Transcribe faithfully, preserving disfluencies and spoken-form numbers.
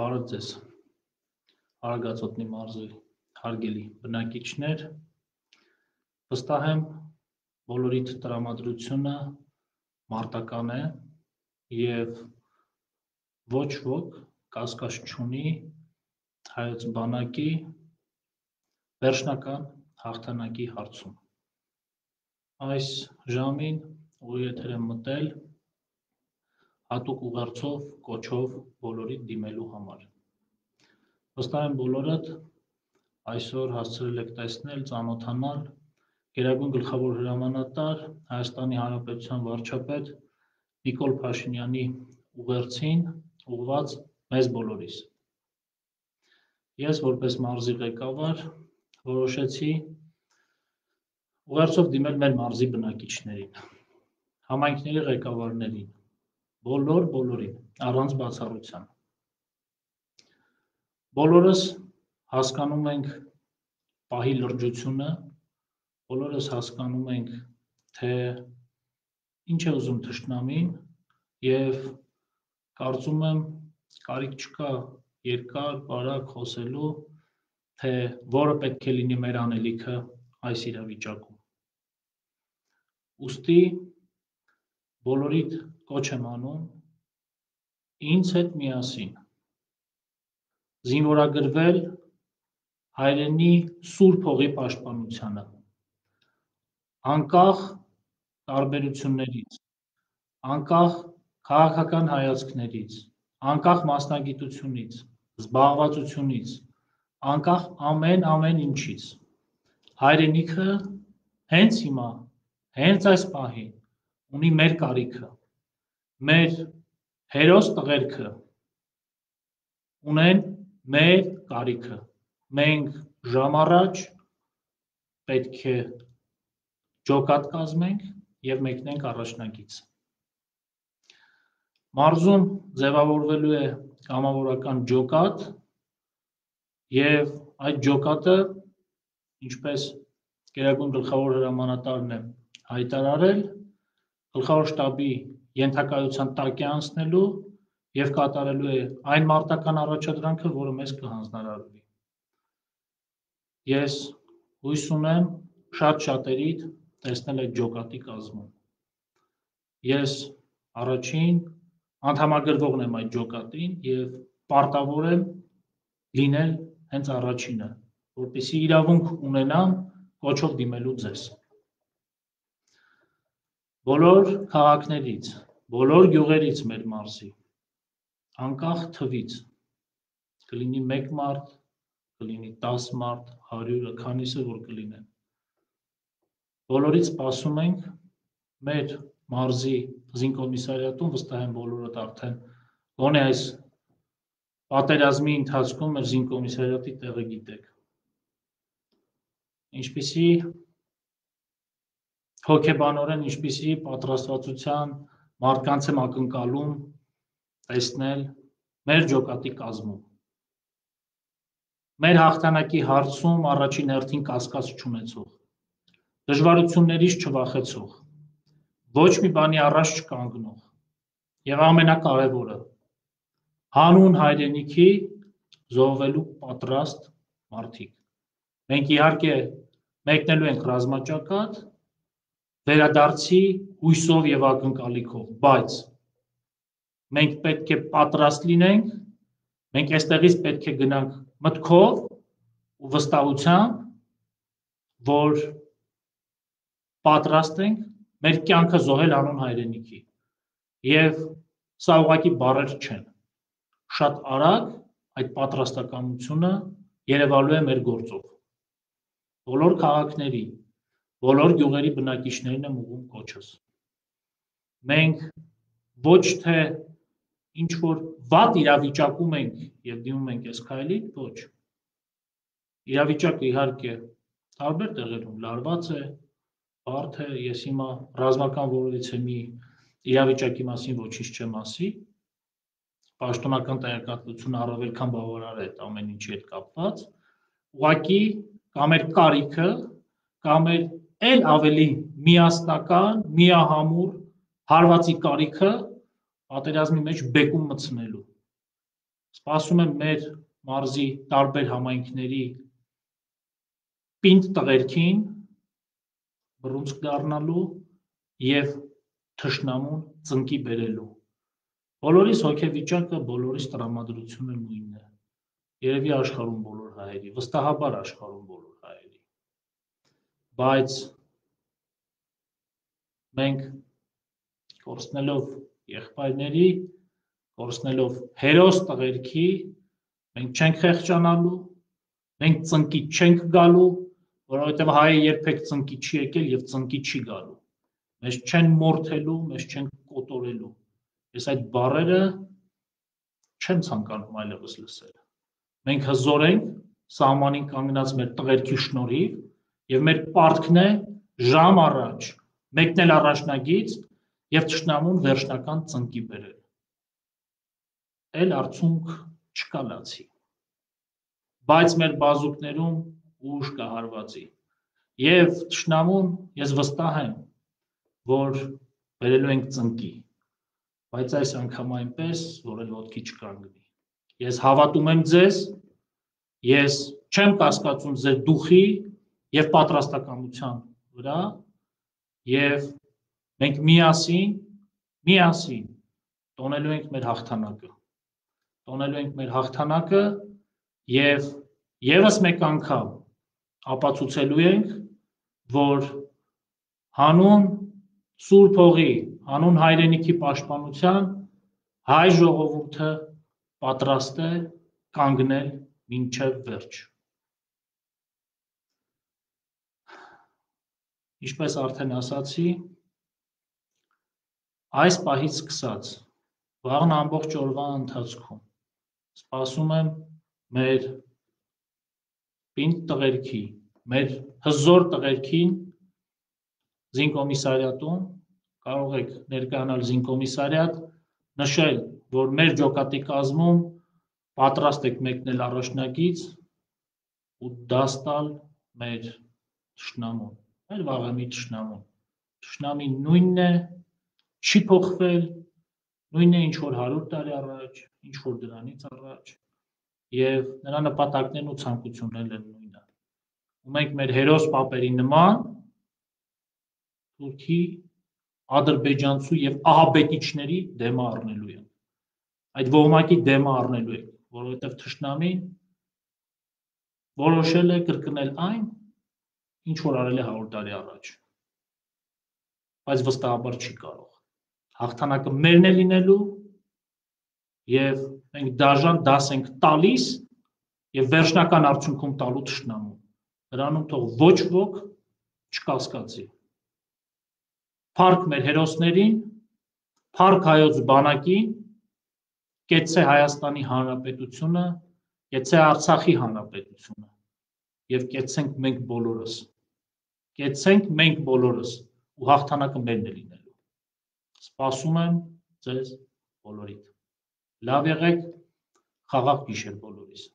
Բարև ձեզ, Արագածոտնի մարզի հարգելի բնակիչներ, վստահ եմ բոլորիդ տրամադրությունը մարտական է և ոչ ոք կասկած չունի հայոց բանակի վերջնական հաղթանակի հարցում։ Այս ժամին ուղիղ եթեր եմ մտել հատուկ ուղերձով, կոչով բոլորիդ դիմելու համար։ Վստահ եմ բոլորդ այսօր հասցրել եք տեսնել, ծանոթանալ Գերագույն գլխավոր հրամանատար Հայաստանի Հանրապետության վարչապետ Նիկոլ Փաշինյանի ուղերձին ուղղված մեզ բոլորիս։ Ես որպես մարզի ղեկավար որոշեցի ուղերձով դիմել մեր մարզի բնակիչներին, համայնքների ղեկավարներին, բոլոր բոլորին, առանց բացառության։ Բոլորս հասկանում ենք պահի լրջությունը, բոլորս հասկանում ենք, թե ինչ է ուզում թշնամին և կարծում եմ կարիք չկա երկար բարակ խոսելու, թե որը պետք է լինի մեր անելիքը այս իրավիճակում։ Ուստի բոլորիդ կոչ եմ անում ինձ հետ միասին զինվորագրվել հայրենի սուրբ հողի պաշտպանությանը, անկախ տարբերություններից, անկախ քաղաքական հայացքներից, անկախ մասնագիտությունից, զբաղվածությունից, անկախ ամեն ամեն ինչից, հայրենիքը հենց հիմա, հենց այս պահին ունի մեր կարիքը, մեր հերոս տղերքը ունեն մեր կարիքը, մենք ժամ առաջ պետք է ջոկատ կազմենք և մեկնենք առաջնագիծ։ Մարզում ձևավորվելու է կամավորական ջոկատ և այդ ջոկատը, ինչպես Գերագույն գլխավոր հրամանատարն է հայտարարել, գլխավոր շտաբի ենթակայության տակ է անցնելու և կատարելու է այն մարտական առաջադրանքը, որը մեզ կհանձնարարվի։ Ես հույս ունեմ շատ շատերիդ տեսնել այդ ջոկատի կազմում։ Ես առաջին անդամագրվողն եմ այդ ջոկատին և պարտավոր եմ լինել հենց առաջինը, որպեսզի իրավունք ունենամ կոչով դիմելու ձեզ։ Բոլոր քաղաքներից, բոլոր գյուղերից մեր մարզի, անկախ թվից, կլինի մեկ մարդ, կլինի տաս մարդ, հարյուրը, քանիսը որ կլինեն, բոլորից սպասում ենք մեր մարզի զինկոմիսարիատում, վստահ եմ բոլորդ արդեն գոնե այս պատերազմի ընթացքում մեր զինկոմիսարիատի տեղը գիտեք։ Ինչպիսի հոգեբանորեն, ինչպիսի պատրաստվածության մարդկանց եմ ակնկալում տեսնել մեր ջոկատի կազմում։ Մեր հաղթանակի հարցում առաջին հերթին կասկած չունեցող, դժվարություններից չվախեցող, ոչ մի բանի առաջ չկանգնող և ամենակարևորը հանուն հայրենիքի զոհվելու պատրաստ մարդիկ։ Մենք իհարկե մեկնելու ենք ռազմաճակատ վերադարձի հույսով և ակնկալիքով, բայց մենք պետք է պատրաստ լինենք, մենք այստեղից պետք է գնանք մտքով ու վստահությամբ, որ պատրաստ ենք մեր կյանքը զոհել հանուն հայրենիքի և սա ուղղակի բառեր չեն, շատ արագ այդ պատրաստակամությունը երևալու է մեր գործով։ Բոլոր քաղաքների, բոլոր գյուղերի բնակիչներին եմ ուղղում կոչս։ Մենք ոչ թե ինչ-որ վատ իրավիճակում ենք և դիմում ենք այս քայլին, ոչ։ Իրավիճակը իհարկե տարբեր տեղերում լարված է, բարդ է, ես հիմա ռազմական որևիցե մի իրավիճակի մասին ոչինչ չեմ ասի, պաշտոնական տեղեկատվությունը առավել քան բավարար է այդ ամեն ինչի հետ կապված, ուղղակի կա մեր կարիքը, կա մեր էլ ավելի միասնական, միահամուռ հարվածի կարիքը պատերազմի մեջ բեկում մտցնելու։ Սպասում եմ մեր մարզի տարբեր համայնքների պինդ տղերքին բռունցք դառնալու և թշնամուն ծնկի բերելու։ Բոլորիս հոգեվիճակը, բոլորիս տրամադրությունը նույնն է։ Երևի աշխարհում բոլոր հայերի, վստահաբար աշխարհում բոլոր հայերի։ Բայց մենք կորցնելով եղբայրների, կորցնելով հերոս տղերքի, մենք չենք խեղճանալու, մենք ծնկի չենք գալու, որովհետև հայը երբեք ծնկի չի եկել և ծնկի չի գալու։ Մեզ չեն մորթելու, մեզ չեն կոտորելու։ Ես այդ բառերը չեմ ցանկանում այլևս լսել։ Մենք հզոր ենք սահմանին կանգնած մեր տղերքի շնորհիվ և մեր պարտքն է ժամ առաջ մեկնել առաջնագիծ և թշնամուն վերջնական ծնկի բերել։ Էլ արդյունք չկա լացի։ Բայց մեր բազուկներում ուժ կա հարվածի։ Եվ թշնամուն, ես վստահ եմ, որ բերելու ենք ծնկի, բայց այս անգամ այնպես, որ էլ ոտքի չկանգնի։ Ես հավատում եմ ձեզ, ես չեմ կասկածում ձեր դուխի և պատրաստակամության վրա, և մենք միասին, միասին տոնելու ենք մեր հաղթանակը, տոնելու ենք մեր հաղթանակը և ևս մեկ անգամ ապացուցելու ենք, որ հանուն Սուրբ Հողի, հանուն հայրենիքի պաշտպանության հայ ժողովուրդը պատրաստ է կանգնել մինչև վերջ։ Ինչպես արդեն ասացի, այս պահից սկսած, վաղն ամբողջ օրվա ընթացքում սպասում եմ մեր պինդ տղերքի, մեր հզոր տղերքին զինկոմիսարիատում, կարող եք ներկայանալ զինկոմիսարիատ, նշել, որ մեր ջոկատի կազմում պատրաստ եք մեկնել առաջնագիծ ու դաս տալ մեր թշնամուն, մեր վաղեմի թշնամուն։ Թշնամին նույնն է, չի փոխվել, նույնն է ինչ որ հարյուր տարի առաջ, ինչ որ դրանից առաջ, և նրա նպատակներն ու ցանկություններն են նույնը։ Ու մենք մեր հերոս պապերի նման թուրքի, ադրբեջանցու և ահաբեկիչների դեմը առնելու ենք։ Այդ ոհմակի դեմը առնելու ենք, որովհետև թշնամին որոշել է կրկնել այն, ինչ որ արել է հարյուր տարի առաջ, բայց վստահաբար չի կարող։ Հաղթանակը մերն է լինելու և մենք դաժան դաս ենք տալիս և վերջնական արդյունքում տալու թշնամուն։ Դրանում թող ոչ ոք չկասկածի։ Փառք մեր հերոսներին, փառք հայոց բանակին, կեցցե Հայաստանի Հանրապետությունը, կեցցե Արցախի Հանրապետությունը և կեցցենք մենք բոլորս, կեցցենք մենք բոլորս ու հաղթանակը մերն է լինելու։ Սպասում եմ ձեզ բոլորիդ։ Լավ եղեք, խաղաղ գիշեր բոլորիս։